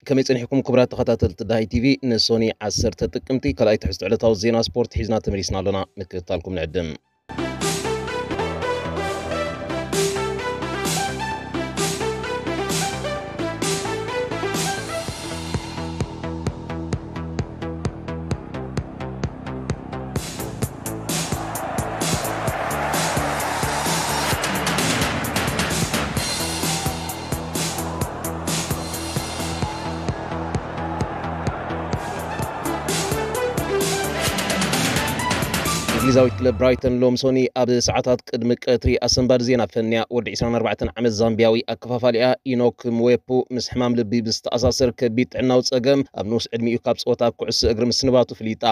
ከመይ ጸኒሕኩም ክቡራት ተኸታተልቲ ዳሃይ ቲቪ? ንሶኒ ዓሰርተ ጥቅምቲ ካልኣይ ትሕዝቶ ዕለታዊ ዜና ስፖርት ሒዝና ተመሊስና ኣለና። ምክትታልኩም ንዕድም። እንግሊዛዊት ክለብ ብራይተን ሎም ሶኒ ኣብ ሰዓታት ቅድሚ ቀትሪ ኣሰንባዲ ዜና ፈንያ ወዲ ዕስራን ኣርባዕተን ዓመት ዛምቢያዊ ኣከፋፋሊኣ ኢኖክ ምዌፑ ምስ ሕማም ልቢ ብዝተኣሳሰር ከቢድ ጥዕናዊ ጸገም ኣብ ንኡስ ዕድሚኡ ካብ ጸወታ ኩዕሶ እግሪ ምስንባቱ ፍሊጣ።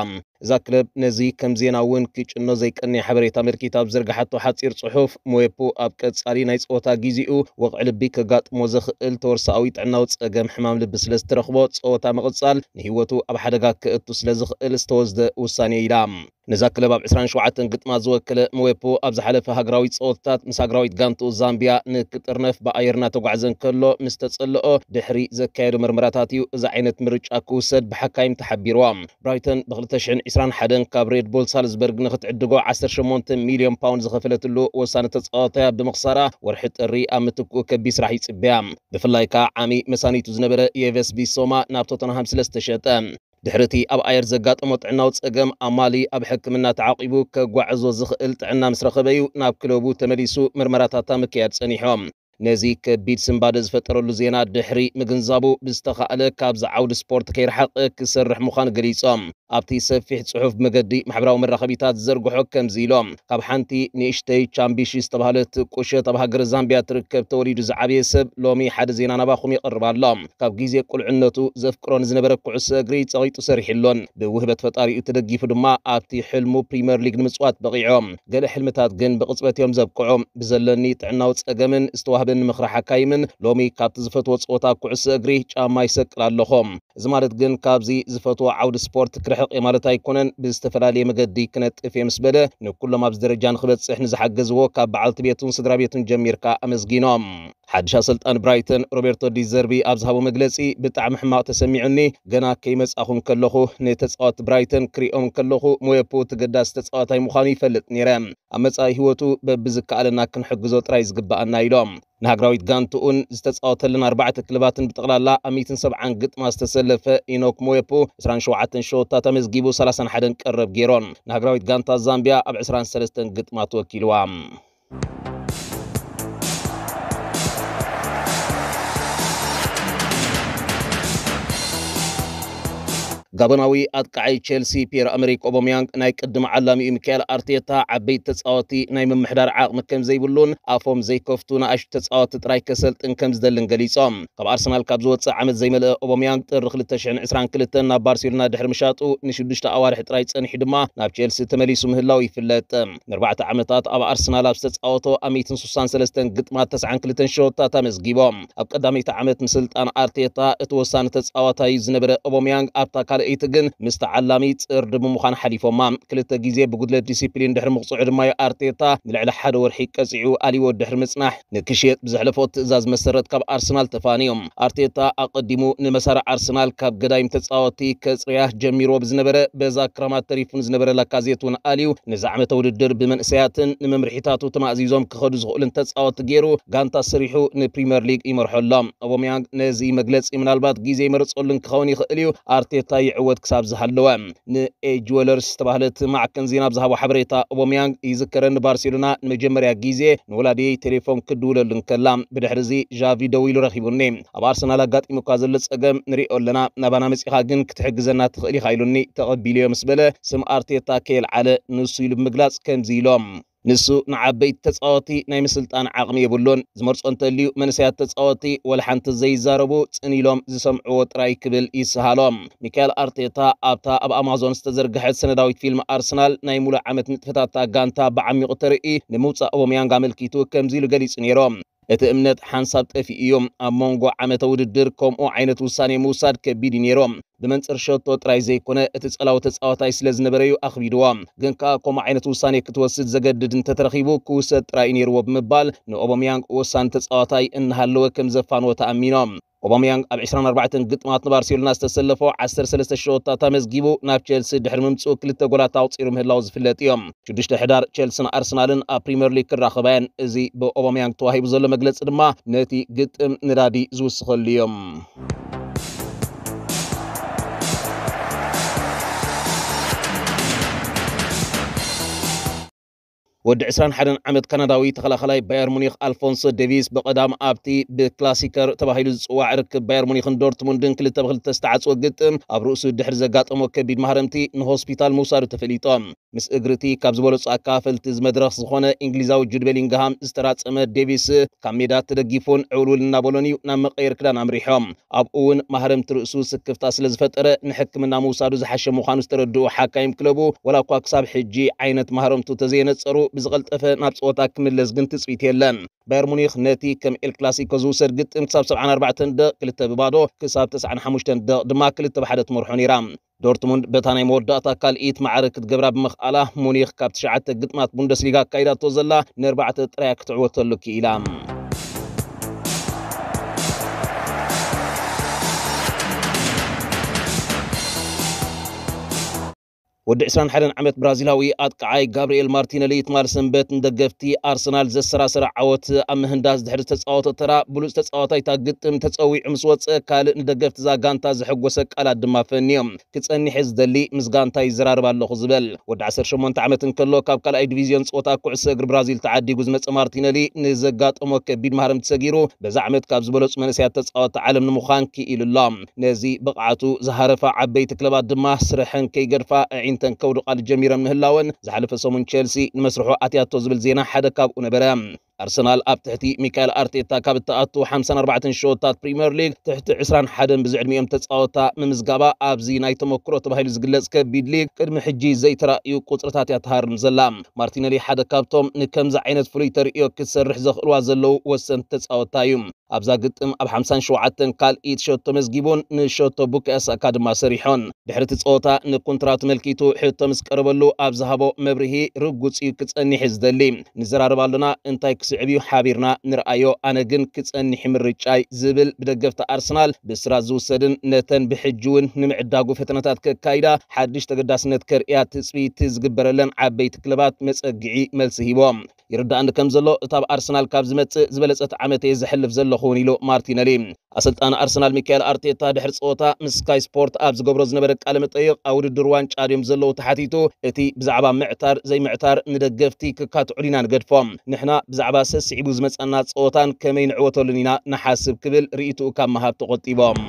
እዛ ክለብ ነዚ ከም ዜና እውን ክጭኖ ዘይቀንየ ሓበሬታ ኣመልኪታ ኣብ ዘርግሓቶ ሓጺር ጽሑፍ፣ ምዌፑ ኣብ ቀጻሊ ናይ ጸወታ ግዜኡ ወቕዒ ልቢ ከጋጥሞ ዘኽእል ተወርሳኣዊ ጥዕናዊ ጸገም ሕማም ልቢ ስለ ዝተረኽቦ ጸወታ ምቕጻል ንህይወቱ ኣብ ሓደጋ ከእቱ ስለ ዝኽእል ዝተወስደ ውሳኔ ኢላ። ነዛ ክለብ ኣብ ዕስራን ሸውዓተን ግጥማት ዝወከለ ምዌፖ ኣብ ዝሓለፈ ሃገራዊ ጸወታታት ምስ ሃገራዊት ጋንትኡ ዛምቢያ ንክጥርነፍ ብኣየር እናተጓዕዘ እንከሎ ምስ ተጸልኦ ድሕሪ ዘካየዶ መርመራታት እዩ እዚ ዓይነት ምርጫ ክውሰድ ብሓካይም ተሓቢርዋ። ብራይተን ብክልተ ሽሕን ዕስራን ሓደን ካብ ሬድ ቡል ሳልዝበርግ ንክትዕድጎ ዓሰርተ ሸሞንተ ሚልዮን ፓውንድ ዝኸፈለትሉ ወሳኒ ተጻዋታያ ብምኽሳራ ወርሒ ጥሪ ኣብ ምትክኡ ከቢድ ስራሕ ይጽበያ። ብፍላይ ከኣ ዓሚ መሳኒቱ ዝነበረ የቨስ ቢሶማ ናብ ቶተንሃም ስለ ዝተሸጠ። ድሕሪ እቲ ኣብ ኣየር ዘጋጠሞ ጥዕናዊ ጸገም ኣማሊ ኣብ ሕክምና ተዓቂቡ ከጓዕዞ ዝኽእል ጥዕና ምስ ረኸበ እዩ ናብ ክለቡ ተመሊሱ ምርመራታታ ምክያድ ጸኒሖ። ነዚ ከቢድ ስንባደ ዝፈጠረሉ ዜና ድሕሪ ምግንዛቡ ብዝተኻእለ ካብዚ ዓውዲ ስፖርት ከይረሓቐ ክሰርሕ ምዃኑ ገሊጾም። ኣብቲ ሰፊሕ ጽሑፍ ብመገዲ ማሕበራዊ መራኸቢታት ዝዘርግሖ ከምዚ ኢሎም፣ ካብ ሓንቲ ንእሽተይ ቻምቢሺ ዝተባህለት ቁሸት ኣብ ሃገረ ዛምቢያ ትርከብ ተወሊዱ ዝዓበየ ሰብ ሎሚ ሓደ ዜና ናባኹም ይቐርብ ኣሎ። ካብ ግዜ ቁልዕነቱ ዘፍቅሮ ንዝነበረ ኩዕሶ እግሪ ጸቒጡ ሰሪሕሉን ብውህበት ፈጣሪኡ ተደጊፉ ድማ ኣብቲ ሕልሙ ፕሪምየር ሊግ ንምጽዋት በቒዖ። ገለ ሕልምታት ግን ብቕጽበት እዮም ዘብቅዑ። ብዘለኒ ጥዕናዊ ጸገምን ዝተዋህበኒ ምኽሪ ሓካይምን ሎሚ ካብቲ ዝፈትዎ ጸወታ ኩዕሶ እግሪ ጫማ ይሰቅል ኣለኹ። እዚ ማለት ግን ካብዚ ዝፈትዎ ዓውዲ ስፖርት ክርሕቕ እየ ማለት ኣይኮነን። ብዝተፈላለየ መገዲ ክነጥፍ እየ ምስ በለ፣ ንኩሎም ኣብዚ ደረጃ ንክበጽሕ ንዝሓገዝዎ ካብ በዓልቲ ቤቱን ስድራ ቤቱን ጀሚርካ ኣመስጊኖም። ሓድሽ ኣሰልጣኒ ብራይተን ሮቤርቶ ዲዘርቢ ኣብ ዝሃቦ መግለጺ፣ ብጣዕሚ ሕማቕ ተሰሚዑኒ። ገና ከይመጻኹ እንከለኹ ንተጻወትቲ ብራይተን ክሪኦም እንከለኹ፣ ሞየፖ ተገዳሲ ተጻዋታይ ምዃኑ ይፈልጥ ነይረ። ኣብ መጻኢ ህይወቱ በብዝከኣለና ክንሕግዞ ጥራይ ዝግበኣና ኢሎም። ንሃገራዊት ጋንትኡን ዝተጻወተለን ኣርባዕተ ክለባትን ብጠቕላላ ኣብ ሚእትን ሰብዓን ግጥማ ዝተሰለፈ ኢኖክ ሞየፖ ዕስራን ሸውዓተን ሸወታት ኣመዝጊቡ ሰላሳን ሓደን ቀረብ ገይሮን። ንሃገራዊት ጋንታ ዛምቢያ ኣብ ዕስራን ሰለስተን ግጥማት ወኪልዋ። ጋቦናዊ ኣጥቃዓይ ቼልሲ ፒየር ኣመሪክ ኦቦሚያንግ ናይ ቅድሚ ዓላሚኡ ሚካኤል ኣርቴታ ዓበይቲ ተጻወቲ ናይ ምምሕዳር ዓቕሚ ከም ዘይብሉን ኣፎም ዘይከፍቱ ንኣሽቱ ተጻወቲ ጥራይ ከሰልጥን ከም ዝደልን ገሊጾም። ካብ ኣርሰናል ካብ ዝወጽእ ዓመት ዘይመልአ ኦቦሚያንግ ጥሪ ክልተ ሽሕን ዕስራን ክልተን ናብ ባርሴሎና ድሕሪ ምሻጡ ንሽዱሽተ ኣዋርሕ ጥራይ ጸኒሑ ድማ ናብ ቼልሲ ተመሊሱ ምህላው ይፍለጥ። ንኣርባዕተ ዓመታት ኣብ ኣርሰናል ኣብ ዝተጻወቶ ኣብ ሚእትን ስሳን ሰለስተን ግጥማት ተስዓን ክልተን ሸወታት ኣመዝጊቦም። ኣብ ቀዳመይቲ ዓመት ምስልጣን ኣርቴታ እቲ ወሳኒ ተጻዋታይ ዝነበረ ኦቦሚያንግ ኣብታ ካልኣይቲ ግን ምስ ተዓላሚ ጽርዲ ብምዃን ሓሊፎማ። ክልተ ግዜ ብጉድለት ዲሲፕሊን ድሕሪ ምቕጽዑ ድማ እዩ ኣርቴታ ንልዕሊ ሓደ ወርሒ ቀጺዑ ኣልይዎ ድሕሪ ምጽናሕ ንክሽየጥ ብዘሕለፎ ትእዛዝ መሰረት ካብ ኣርሰናል ተፋንዮም። ኣርቴታ ኣቐዲሙ ንመሳርዕ ኣርሰናል ካብ ገዳይም ተጻወቲ ከጽርያ ጀሚርዎ ብዝነበረ በዛ ክራማት ተሪፉ ንዝነበረ ላካዜት እውን ኣልዩ ነዚ ዓመተ ውድድር ብመንእሰያትን ንመምርሒታቱ ተማእዚዞም ክኸዱ ዝኽእሉን ተጻወቲ ገይሩ ጋንታ ስሪሑ ንፕሪምየር ሊግ ይመርሖ ኣሎ። ኦቦሚያንግ ነዚ መግለጺ ምናልባት ግዜ ይመርጸሉን ክኸውን ይኽእል እዩ፣ ኣርቴታ ይዕወት ክሳብ ዝሃለወ። ንኤጅ ወለርስ ዝተባህለት ማዕከን ዜና ብዝሃቦ ሓበሬታ ኦቦሚያንግ ይዝከረኒ ባርሴሎና ንመጀመርያ ግዜ ንወላዲየይ ቴሌፎን ክድውለሉ እንከላ ብድሕሪ እዚ ዣቪ ደው ኢሉ ረኺቡኒ። ኣብ ኣርሰናል ኣጋጢሙካ ዘሎ ጸገም ንሪኦ ኣለና፣ ናባና መጺኻ ግን ክትሕግዘና ትኽእል ኢኻ ኢሉኒ ተቐቢሉዮ ምስ በለ ስም ኣርቴታ ከየልዓለ ንሱ ኢሉ ብምግላጽ ከምዚ ኢሎም። ንሱ ንዓበይቲ ተጻወቲ ናይ ምስልጣን ዓቕሚ የብሉን። ዝመርጾ እንተልዩ መንእሰያት ተጻወቲ ወላ ሓንቲ ዘይዛረቡ ጽን ኢሎም ዝሰምዕዎ ጥራይ ክብል ይስሃሎም። ሚካኤል ኣርቴታ ኣብታ ኣብ ኣማዞን ዝተዘርግሐት ሰነዳዊት ፊልም ኣርሰናል ናይ ሙሉእ ዓመት ንጥፈታት እታ ጋንታ ብዓሚቑ ተርኢ ንምውጻእ ኦቦሚያንግ ኣመልኪቱ ከምዚ ኢሉ ገሊጹ ነይሩ። እቲ እምነት ሓንሳብ ጠፊኡ እዩ። ኣብ መንጎ ዓመተ ውድድር ከምኡ ዓይነት ውሳኔ ምውሳድ ከቢድ እዩ ነይሩ። ብመንጽር ሸቶ ጥራይ ዘይኮነ እቲ ጸላዊ ተጻዋታይ ስለ ዝነበረ እዩ ኣኽቢድዎ። ግን ከኣ ከምኡ ዓይነት ውሳኔ ክትወስድ ዘገድድ እንተተረኺቡ ክውሰድ ጥራይ እዩ ነይርዎ ብምባል ንኦቦሚያንግ ወሳኒ ተጻዋታይ እናሃለወ ከም ዘፋንዎ ተኣሚኖም። ኦባመያንግ ኣብ ዕስራን ኣርባዕተን ግጥማት ንባርሴሎና ዝተሰለፎ ዓሰርተ ሰለስተ ሸወታት ኣመዝጊቡ ናብ ቸልሲ ድሕሪ ምምጽኡ ክልተ ጎላት ኣቑጺሩ ምህላው ዝፍለጥ እዩ። ሽዱሽተ ሕዳር ቸልስን ኣርሰናልን ኣብ ፕሪምየር ሊግ ክራኸባ እየን። እዚ ብኦባመያንግ ተዋሂቡ ዘሎ መግለጺ ድማ ነቲ ግጥም ንዳዲ ዝውስኸሉ እዩ። ወዲ ዕስራን ሓደን ዓመት ካናዳዊ ተኸላኸላይ ባየር ሙኒክ ኣልፎንሶ ዴቪስ ብቐዳም ኣብቲ ብክላሲከር ተባሂሉ ዝጽዋዕ ርክብ ባየር ሙኒክን ዶርትሙንድን ክልተ ብክልተ ዝተዓጽወ ግጥም ኣብ ርእሱ ድሕሪ ዘጋጠሞ ከቢድ ማህረምቲ ንሆስፒታል ምውሳዱ ተፈሊጡ። ምስ እግሪ እቲ ካብ ዝበለጹ ኣካፈልቲ እዚ መድረኽ ዝኾነ እንግሊዛዊ ጁድ ቤሊንግሃም ዝተራጸመ ዴቪስ ካብ ሜዳ ተደጊፉን ዕውልውል እናበሎን እዩ ናብ መቀየር ክዳን ኣምሪሖም። ኣብኡ እውን ማህረምቲ ርእሱ ስክፍታ ስለ ዝፈጠረ ንሕክምና ምውሳዱ ዝሓሸ ምዃኑ ዝተረድኡ ሓካይም ክለቡ፣ ወላ እኳ ክሳብ ሕጂ ዓይነት ማህረምቱ ተዘየነጸሩ፣ ብዝቐልጠፈ ናብ ጸወታ ክምለስ ግን ትጽቢት የለን። ባየር ሙኒክ ነቲ ከም ኤል ክላሲኮ ዝውሰድ ግጥም ክሳብ ሰብዓን ኣርባዕተን ደቕ ክልተ ብባዶ፣ ክሳብ ተስዓን ሓሙሽተን ደቕ ድማ ክልተ ብሓደ ትመርሖ ነይራ። ዶርትሙንድ በታ ናይ መወዳእታ ካልኢት ማዕረ ክትገብራ ብምኽኣላ፣ ሙኒክ ካብ ትሽዓተ ግጥማት ቡንደስሊጋ ኣካይዳቶ ዘላ ንኣርባዕተ ጥራያ ክትዕወተሉ ክኢላ። ወዲ ዕስራን ሓደን ዓመት ብራዚላዊ ኣጥቃዓይ ጋብርኤል ማርቲነሊ ትማል ሰንበት ንደገፍቲ ኣርሰናል ዘሰራሰረ ዓወት ኣብ ምህንዳስ ድሕሪ ዝተጻወቶ ተራ ብሉጽ ተጻዋታይ እታ ግጥም ተጸዊዑ ምስ ወጸ፣ ካልእ ንደገፍቲ እዛ ጋንታ ዘሐጎሰ ቃላት ድማ ፈንዮም። ክጸኒሕ ዝደሊ ምስ ጋንታ ይዘራረብ ኣለኹ ዝበል። ወዲ ዓሰርተ ሸሞንተ ዓመት እንከሎ ካብ ካልኣይ ዲቪዝዮን ጸወታ ኩዕሶ እግሪ ብራዚል ተዓዲጉ ዝመጸ ማርቲነሊ ንዘጋጠሞ ከቢድ ማህረምቲ ሰጊሩ በዛ ዓመት ካብ ዝበለጹ መንእሰያት ተጻወቲ ዓለም ንምዃን ክኢሉ ኣሎ። ነዚ ብቕዓቱ ዝሃረፋ ዓበይቲ ክለባት ድማ ስረሐን ከይገድፋ ኣዒንተን ከውድቓሉ ጀሚረን ምህላወን ዝሓለፈ ሰሙን ቸልሲ ንመስርሑ ኣትያቶ ዝብል ዜና ሓደ ካብኡ ነበረ። ኣርሰናል ኣብ ትሕቲ ሚካኤል ኣርቴታ ካብ እትኣቱ ሓምሳን ኣርባዕተን ሸወታት ፕሪምየር ሊግ ትሕቲ ዕስራን ሓደን ብዝዕድሚኦም ተጻወታ ምምዝጋባ ኣብዚ ናይ ተመክሮ ተባሂሉ ዝግለጽ ከቢድ ሊግ ቅድሚ ሕጂ ዘይተራእዩ ቁጽርታት እያ ትሃርም ዘላ። ማርቲነሊ ሓደ ካብቶም ንከምዚ ዓይነት ፍሉይ ተርእዮ ክትሰርሕ ዘኽእልዋ ዘለዉ ወሰንቲ ተጻወታ እዩ። ኣብዛ ግጥም ኣብ ሓምሳን ሸውዓተን ካልኢት ሸቶ መዝጊቡን ንሸቶ ቡካዮ ሳካ ድማ ሰሪሖን። ድሕሪ እቲ ጸወታ ንኮንትራቱ ተመልኪቱ ሕቶ ምስ ቀረበሉ ኣብ ዝሃቦ መብርሂ ርጉጽ እዩ ክጸኒሕ ዝደሊ። ንዘራረብ ኣሎና፣ እንታይ ክስዕብ እዩ ሓቢርና ንርኣዮ፣ ኣነ ግን ክጸኒሕ ምርጫይ ዝብል ብደገፍቲ ኣርሰናል ብስራት ዝውሰድን ነተን ብሕጂ እውን ንምዕዳጉ ፈተነታት ከካይዳ ሓድሽ ተገዳስነት ከርእያ ትጽቢት ዝግበረለን ዓበይቲ ክለባት መጸግዒ መልሲ ሂቦም። ይርዳእኒ ከም ዘሎ እታ ኣብ ኣርሰናል ካብ ዝመጽእ ዝበለጸት ዓመት እየ ዘሕልፍ ዘለኹ እውን ኢሉ ማርቲነሊ። ኣሰልጣኒ ኣርሰናል ሚካኤል ኣርቴታ ድሕሪ ጸወታ ምስ ስካይ ስፖርት ኣብ ዝገብሮ ዝነበረ ቃለ መጠይቕ ኣብ ውድድር ዋንጫ ድዮም ዘለዉ ተሓቲቱ እቲ ብዛዕባ ምዕታር ዘይምዕታር ንደገፍቲ ክካትዑ ዲና ንገድፎ። ንሕና ብዛዕባ ሰስዒቡ ዝመጸና ጸወታን ከመይ ንዕወተሉን ኢና ንሓስብ ክብል ርእይትኡ ካብ ምሃብ ተቖጢቦም።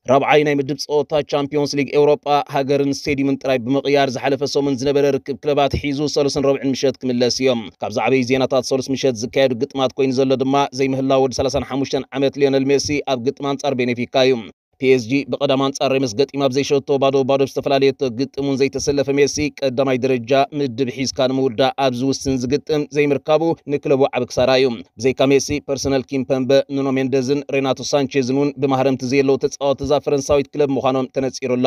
ራብዓይ ናይ ምድብ ጸወታ ቻምፒዮንስ ሊግ ኤውሮጳ ሃገርን ስቴዲየምን ጥራይ ብምቕያር ዝሓለፈ ሰሙን ዝነበረ ርክብ ክለባት ሒዙ ሰሉስን ረቡዕን ምሸት ክምለስ እዮም። ካብ ዝዓበዩ ዜናታት ሰሉስ ምሸት ዝካየዱ ግጥማት ኮይኑ ዘሎ ድማ ዘይምህላው ወዲ ሰላሳን ሓሙሽተን ዓመት ሊዮነል ሜሲ ኣብ ግጥም ኣንጻር ቤኔፊካ እዩ። ፒ ኤስ ጂ ብቐዳም ኣንጻር ሬምስ ገጢማ ብዘይሸቶ ባዶ ባዶ ብዝተፈላለየ ግጥም እውን ዘይተሰለፈ ሜሲ ቀዳማይ ደረጃ ምድብ ሒዝካ ንምውዳእ ኣብ ዝውስን ዝግጥም ዘይምርካቡ ንክለቡ ዓቢ ክሳራ እዩ። ብዘይካ ሜሲ፣ ፐርሰናል ኪምፐምበ፣ ኑኖ ሜንደዝን ሬናቶ ሳንቼዝን እውን ብማህረምቲ ዘየለዉ ተጻወቲ እዛ ፈረንሳዊት ክለብ ምዃኖም ተነጺሩ ኣሎ።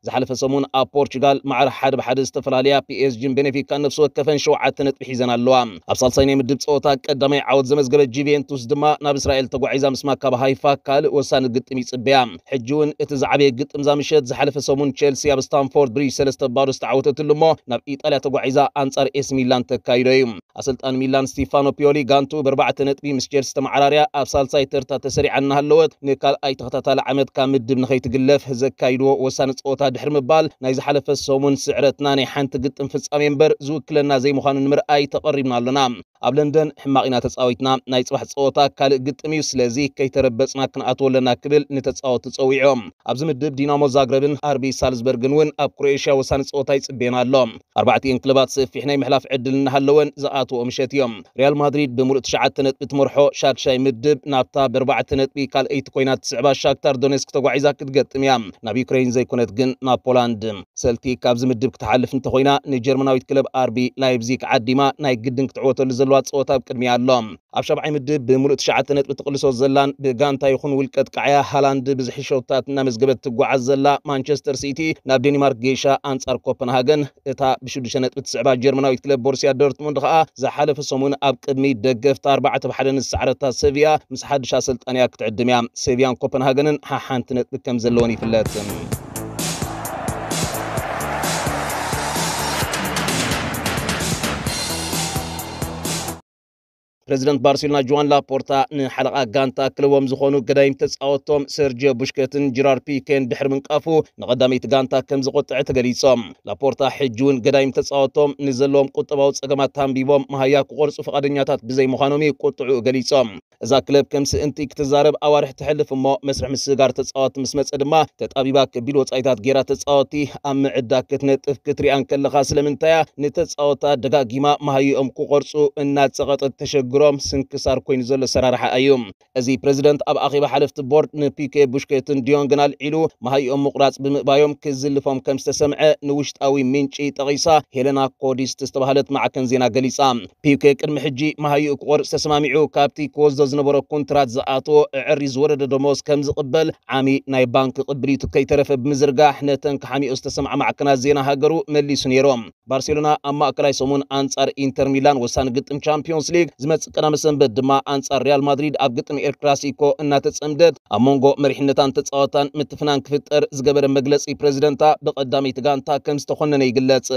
ዝሓለፈ ሰሙን ኣብ ፖርቹጋል ማዕረ ሓደ ብሓደ ዝተፈላለያ ፒ ኤስ ጂን ቤኔፊካን ነፍሲ ወከፈን ሸውዓተ ነጥቢ ሒዘን ኣለዋ። ኣብ ሳልሳይ ናይ ምድብ ጸወታ ቀዳማይ ዓወት ዘመዝገበ ጁቬንቱስ ድማ ናብ እስራኤል ተጓዒዛ ምስ ማካቢ ሃይፋ ካልእ ወሳኒ ግጥም ይጽበያ። ሕጂ እውን እቲ ዝዓበየ ግጥም እዛ ምሸት ዝሓለፈ ሰሙን ቸልሲ ኣብ ስታንፎርድ ብሪጅ ሰለስተ ባዶ ዝተዓወተትሉ እሞ ናብ ኢጣልያ ተጓዒዛ ኣንጻር ኤሲ ሚላን ተካይዶ እዩ። ኣሰልጣኒ ሚላን ስቲፋኖ ፒዮሊ ጋንቱ ብኣርባዕተ ነጥቢ ምስ ቸልሲ ተመዓራርያ ኣብ ሳልሳይ ተርታ ተሰሪዓ እናሃለወት ንካልኣይ ተኸታታሊ ዓመት ካብ ምድብ ንኸይትግለፍ ዘካይድዎ ወሳኒ ጸወታ ድሕሪ ምባል ናይ ዝሓለፈ ሰሙን ስዕረትና ናይ ሓንቲ ግጥም ፍጻሜ እምበር ዝውክለና ዘይምዃኑ ንምርኣይ ተቐሪብና ኣሎና። ኣብ ለንደን ሕማቕ ኢና ተጻዊትና። ናይ ጽባሕ ጸወታ ካልእ ግጥም እዩ፣ ስለዚ ከይተረበጽና ክንኣትዎ ኣለና ክብል ንተጻወቱ ጸዊዑ። ኣብዚ ምድብ ዲናሞ ዛግረብን ኣርቢ ሳልዝበርግን እውን ኣብ ክሮኤሽያ ወሳኒ ጸወታ ይጽበየና ኣሎ። ኣርባዕቲኤን ክለባት ሰፊሕ ናይ ምሕላፍ ዕድል እናሃለወን ዝኣትዎ ምሸት እዮም። ሪያል ማድሪድ ብምሉእ ትሽዓተ ነጥቢ ትመርሖ ሻድሻይ ምድብ ናብታ ብኣርባዕተ ነጥቢ ካልኣይቲ ኮይና ትስዕባ ሻክታር ዶኔስክ ተጓዒዛ ክትገጥም እያ። ናብ ዩክሬን ዘይኮነት ግን ናብ ፖላንድ። ሰልቲክ ካብዚ ምድብ ክትሓልፍ እንተኾይና ንጀርመናዊት ክለብ ኣርቢ ላይፕዚግ ዓዲማ ናይ ግድን ክትዕወተሉ ዘለዋ ጸወታ ኣብ ቅድሚያ ኣሎ። ኣብ ሻብዓይ ምድብ ብምሉእ ትሽዓተ ነጥቢ ትቕልሶ ዘላን ብጋንታ ይኹን ውልቀ ጥቃዕያ ሃላንድ ብዝሒ ሸውታት እናመዝገበት ትጓዓዝ ዘላ ማንቸስተር ሲቲ፣ ናብ ዴንማርክ ጌሻ ኣንጻር ኮፐንሃገን፣ እታ ብሽዱሽተ ነጥቢ ትስዕባ ጀርመናዊት ክለብ ቦሩስያ ዶርትሙንድ ከኣ ዝሓለፈ ሰሙን ኣብ ቅድሚ ደገፍታ ኣርባዕተ ብ ሓደ ንዝሰዓረታ ሰቪያ ምስ ሓድሽ ኣሰልጣንያ ክትዕድም እያ። ሰቪያን ኮፐንሃገንን ሓሓንቲ ነጥቢ ከም ዘለወን ይፍለጥ። ፕሬዚደንት ባርሴሎና ጆዋን ላፖርታ ንሓለቓ ጋንታ ክለቦም ዝኾኑ ገዳይም ተጻወቶም ሰርጂዮ ቡሽከትን ጀራርድ ፒኬን ድሕሪ ምንቃፉ፣ ንቐዳመይቲ ጋንታ ከም ዘቖጥዐ ተገሊጾም። ላፖርታ ሕጂ እውን ገዳይም ተጻወቶም ንዘለዎም ቁጠባዊ ጸገማት ተንቢቦም መሃያ ክቖርጹ ፈቓደኛታት ብዘይምዃኖም እዩ ቁጥዑ ገሊጾም። እዛ ክለብ ከም ስእንቲ ክትዛረብ ኣዋርሕ ትሕልፍ እሞ፣ መስርሕ ምስግጋር ተጻወቲ ምስ መጸ ድማ ተጣቢባ ከቢድ ወጻኢታት ጌራ ተጻወቲ ኣብ ምዕዳ ክትነጥፍ ክትሪኣ እንከለኻ፣ ስለምንታያ ንተጻወታ ደጋጊማ መሃይኦም ክቖርጹ እናጸቐጠት ተሸግሮም ስንክሳር ኮይኑ ዘሎ ኣሰራርሓ እዩ። እዚ ፕሬዚደንት ኣብ ኣኼባ ሓለፍቲ ቦርድ ንፒኬ ቡሽኬትን ዲዮንግን ኣልዒሉ መሃይኦም ምቑራጽ ብምእባዮም ክዝልፎም ከም ዝተሰምዐ ንውሽጣዊ ምንጪ ጠቒሳ ሄለና ኮዲስት ዝተባህለት ማዕከን ዜና ገሊጻ። ፒኬ ቅድሚ ሕጂ መሃይኡ ክቖርጽ ተሰማሚዑ ካብቲ ክወስዶ ዝነበሮ ኮንትራት ዝኣተዎ ኣዐርዩ ዝወረደ ደሞዝ ከም ዝቕበል ዓሚ ናይ ባንክ ቅብሊቱ ከይተረፈ ብምዝርጋሕ ነተን ክሓሚኦ ዝተሰምዓ ማዕከናት ዜና ሃገሩ መሊሱ ነይሩ። ባርሴሎና ኣብ ማእከላይ ሰሙን ኣንጻር ኢንተር ሚላን ወሳኒ ግጥም ቻምፒዮንስ ሊግ፣ ዝመጽእ ቀዳመ ሰንበት ድማ ኣንጻር ሪያል ማድሪድ ኣብ ግጥም ኤል ክላሲኮ እናተጸምደት ኣብ መንጎ መሪሕነታን ተጻወታን ምትፍናን ክፍጠር ዝገበረ መግለጺ ፕሬዚደንታ ብቐዳመይቲ ጋንታ ከም ዝተኾነነ ይግለጽ።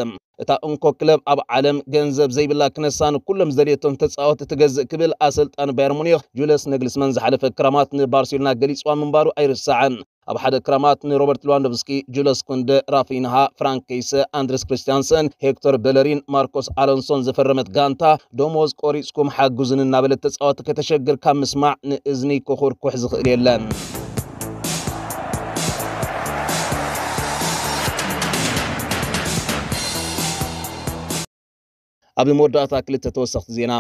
እታ እንኮ ክለብ ኣብ ዓለም ገንዘብ ዘይብላ ክነሳ ንኩሎም ዝደልየቶም ተጻወቲ ትገዝእ ክብል ኣሰልጣኒ ባየር ሙኒኽ ጁልስ ነግልስመን ዝሓለፈ ክራማት ንባርሴሎና ገሊጽዋ ምንባሩ ኣይርሳዕን። ኣብ ሓደ ክራማት ንሮበርት ሌዋንዶቭስኪ፣ ጁልስ ኩንደ፣ ራፊንሃ፣ ፍራንክ ኬይሰ፣ ኣንድረስ ክሪስቲያንሰን፣ ሄክቶር ቤለሪን ማርኮስ ኣሎንሶን ዘፈረመት ጋንታ ደሞዝ ቆሪጽኩም ሓግዙኒ እናበለት ተጻወቲ ከተሸግር ካብ ምስማዕ ንእዝኒ ክኹርኩሕ ዝኽእል የለን። ኣብ መወዳእታ ክልተ ተወሰኽቲ ዜና።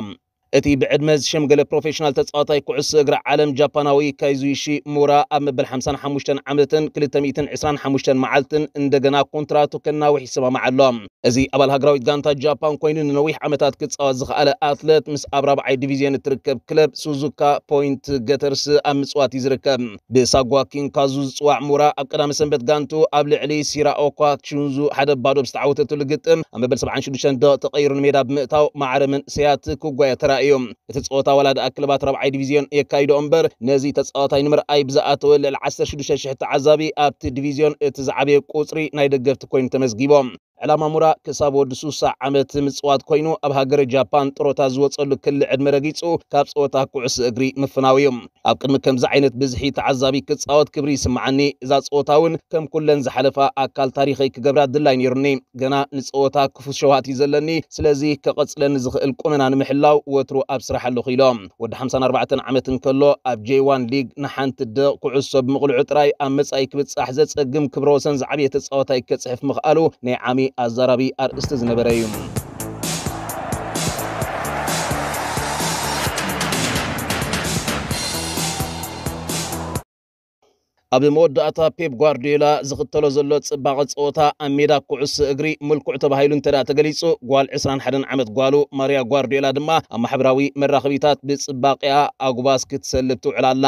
እቲ ብዕድመ ዝሸምገለ ፕሮፌሽናል ተጻዋታይ ኩዕሶ እግሪ ዓለም ጃፓናዊ ካይዙሺ ሙራ ኣብ መበል ሓምሳን ሓሙሽተን ዓመትን ክልተ ሚእትን ዕስራን ሓሙሽተን መዓልትን እንደገና ኮንትራቱ ከናውሕ ይሰማማዕ ኣሎ። እዚ ኣባል ሃገራዊት ጋንታ ጃፓን ኮይኑ ንነዊሕ ዓመታት ክጻወት ዝኸኣለ ኣትለት፣ ምስ ኣብ ራብዓይ ዲቪዝዮን እትርከብ ክለብ ሱዙካ ፖይንት ገተርስ ኣብ ምጽዋት እዩ ዝርከብ። ብሳጓ ኪንካዙ ዝጽዋዕ ሙራ ኣብ ቀዳመ ሰንበት ጋንቱ ኣብ ልዕሊ ሲራኦኳ ቹንዙ ሓደ ባዶ ብዝተዓወተትሉ ግጥም ኣብ መበል ሰብዓን ሽዱሽተን ደቂቕ ተቐይሩ ንሜዳ ብምእታው ማዕረ መንእሰያት ክጓየ ተራእዩ። እቲ ጸወታ ዋላ ደኣ ክለባት ራብዓይ ዲቪዝዮን የካይዶ እምበር፣ ነዚ ተጻዋታይ ንምርኣይ ብዝኣተወ ልዕሊ ዓሰርተ ሽዱሽተ ሽሕ ተዓዛቢ ኣብቲ ዲቪዝዮን እቲ ዝዓበየ ቁጽሪ ናይ ደገፍቲ ኮይኑ ተመዝጊቦም። ዕላማ ሙራ ክሳብ ወዲ ሱሳ ዓመት ምጽዋት ኮይኑ፣ ኣብ ሃገረ ጃፓን ጥሮታ ዝወጸሉ ክሊ ዕድመ ረጊጹ ካብ ጸወታ ኩዕሶ እግሪ ምፍናው እዩ። ኣብ ቅድሚ ከምዚ ዓይነት ብዝሒ ተዓዛቢ ክጻወት ክብሪ ይስምዓኒ። እዛ ጸወታ እውን ከም ኩለን ዝሓለፋ ኣካል ታሪኸይ ክገብራ ድላይ ነይሩኒ። ገና ንጸወታ ክፉት ሸውሃት እዩ ዘለኒ። ስለዚ ከቐጽለኒ ዝኽእል ቁመና ንምሕላው ወትሩ ኣብ ስራሕ ኣለኹ ኢሎም። ወዲ ሓምሳን ኣርባዕተን ዓመት እንከሎ ኣብ ጄይ ዋን ሊግ ንሓንቲ ደቕ ኩዕሶ ብምቕልዑ ጥራይ ኣብ መጻኢ ክብጻሕ ዘጸግም ክብረ ወሰን ዝዓበየ ተጻዋታይ ከጽሕፍ ምኽኣሉ ናይ ዓሚ ኣዛራቢ ኣርእስቲ ዝነበረ እዩ። ኣብ መወዳእታ ፔፕ ጓርዲዮላ ዝኽተሎ ዘሎ ጽባቐ ጸወታ ኣብ ሜዳ ኩዕሶ እግሪ ምልኩዕ ተባሂሉ እንተ ደኣ ተገሊጹ፣ ጓል ዕስራን ሓደን ዓመት ጓሉ ማርያ ጓርዲዮላ ድማ ኣብ ማሕበራዊ መራኸቢታት ብጽባቐኣ ኣጉባዝ ክትሰልብ ትውዕል ኣላ።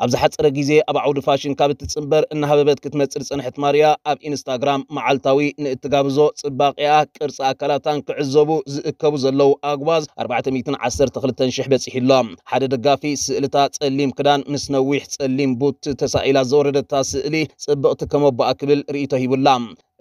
ኣብ ዝሓጸረ ግዜ ኣብ ዓውዲ ፋሽን ካብ እትጽንበር እናሃበበት ክትመጽእ ዝጸንሐት ማርያ፣ ኣብ ኢንስታግራም መዓልታዊ ንእትጋብዞ ጽባቐኣ፣ ቅርጺ ኣካላታን ክዕዘቡ ዝእከቡ ዘለዉ ኣጉባዝ ኣርባዕተ ሚእትን ዓሰርተ ክልተን ሽሕ በጺሑ ኣሎ። ሓደ ደጋፊ ስእልታ ጸሊም ክዳን ምስ ነዊሕ ጸሊም ቡት ተሳኢላ ዘወረደታ ስእሊ ጽብቕቲ ከም ኣቦኣ ክብል ርእይቶ ሂቡላ።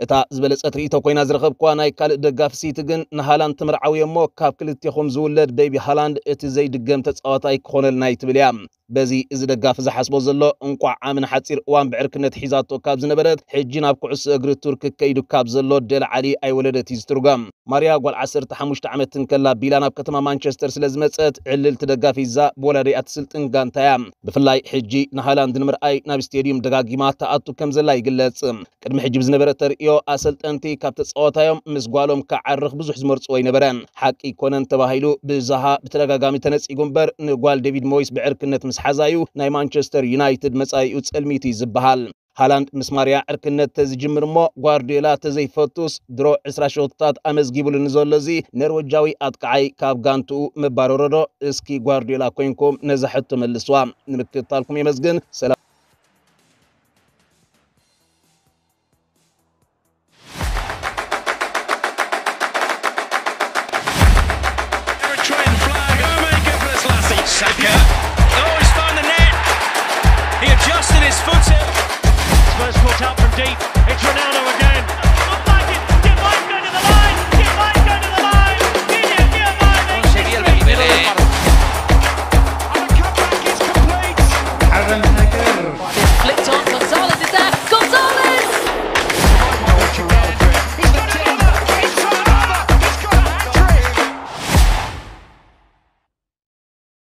እታ ዝበለጸት ርእይቶ ኮይና ዝረኸብክዋ ናይ ካልእ ደጋፊ ሲቲ ግን፣ ንሃላንድ ትምርዓዊ እሞ ካብ ክልቴኹም ዝውለድ ቤቢ ሃላንድ እቲ ዘይድገም ተጻዋታይ ክኾነልና እዩ ትብል እያ። በዚ እዚ ደጋፊ ዝሓስቦ ዘሎ፣ እንቋዕ ዓሚ ንሓጺር እዋን ብዕርክነት ሒዛቶ ካብ ዝነበረት፣ ሕጂ ናብ ኩዕሶ እግሪ ቱርክ ከይዱ ካብ ዘሎ ደልዓሊ ኣይወለደት እዩ ዝትርጎም። ማርያ ጓል ዓሰርተ ሓሙሽተ ዓመት እንከላ ቢላ ናብ ከተማ ማንቸስተር ስለ ዝመጸት፣ ዕልልቲ ደጋፊ ሒዛ ብወላዲኣ ትስልጥን ጋንታ እያ። ብፍላይ ሕጂ ንሃላንድ ንምርኣይ ናብ ስቴድዩም ደጋጊማ ትኣቱ ከም ዘላ ይግለጽ። ቅድሚ ሕጂ ብዝነበረ ተርእዮ፣ ኣሰልጠንቲ ካብ ተጻዋታዮም ምስ ጓሎም ክዓርኽ ብዙሕ ዝመርጽዎ ኣይነበረን። ሓቂ ኣይኮነን ተባሂሉ ብዛሃ ብተደጋጋሚ ተነጺጉ እምበር፣ ንጓል ዴቪድ ሞይስ ብዕርክነት ምስ ሓዛዩ ናይ ማንቸስተር ዩናይትድ መጻኢኡ ጸልሚቱ እዩ ዝበሃል። ሃላንድ ምስ ማርያ ዕርክነት ተዝጅምር እሞ ጓርዲዮላ ተዘይፈቱስ ድሮ ዕስራ ሸቶታት ኣመዝጊቡሉ ንዘሎ እዚ ኖርወጃዊ ኣጥቃዓይ ካብ ጋንትኡ ምባረሮዶ? እስኪ ጓርዲዮላ ኮይንኩም ነዛ ሕቶ መልስዋ። ንምክትታልኩም የመስግን። ሰላም። Eritrean flag. Romain Gebrselassie. Saka. Oh, he's found the net. He adjusted his foot. Spurs caught out from deep.